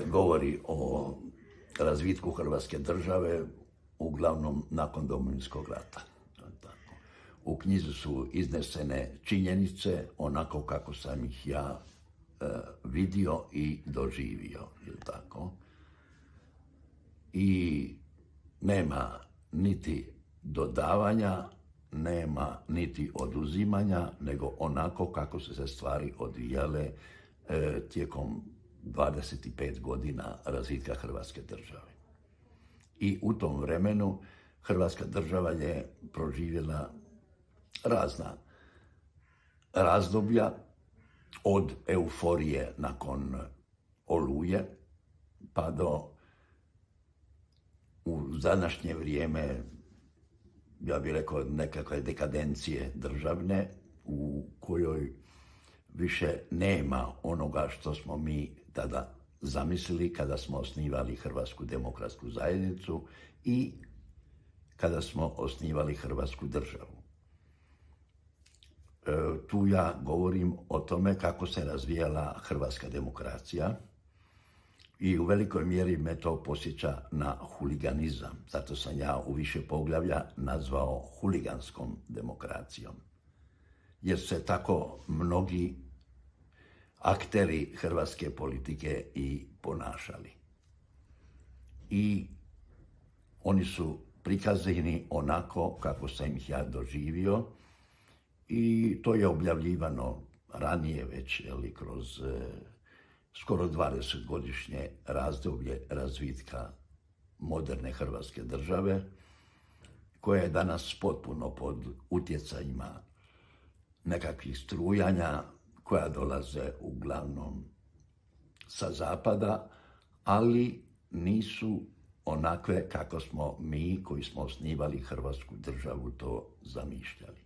Govori o razvitku Hrvatske države, uglavnom nakon Domovinskog rata. U knjizi su iznesene činjenice onako kako sam ih ja vidio i doživio. I nema niti dodavanja, nema niti oduzimanja, nego onako kako su se stvari odvijale tijekom 25 godina razvitka Hrvatske države. I u tom vremenu Hrvatska država je proživjela razna razdoblja, od euforije nakon Oluje pa do u današnje vrijeme, ja bih rekao, nekakve dekadencije državne u kojoj više nema onoga što smo mi tada zamislili kada smo osnivali Hrvatsku demokratsku zajednicu i kada smo osnivali Hrvatsku državu. Tu ja govorim o tome kako se razvijala hrvatska demokracija i u velikoj mjeri me to podsjeća na huliganizam. Zato sam ja u više poglavlja nazvao huliganskom demokracijom. Jer se tako mnogi akteri hrvatske politike i ponašali. I oni su prikazani onako kako sam ih ja doživio i to je objavljivano ranije već kroz skoro 20-godišnje razdoblje razvitka moderne Hrvatske države, koja je danas potpuno pod utjecajima nekakvih strujanja koja dolaze uglavnom sa zapada, ali nisu onakve kako smo mi koji smo osnivali Hrvatsku državu to zamišljali.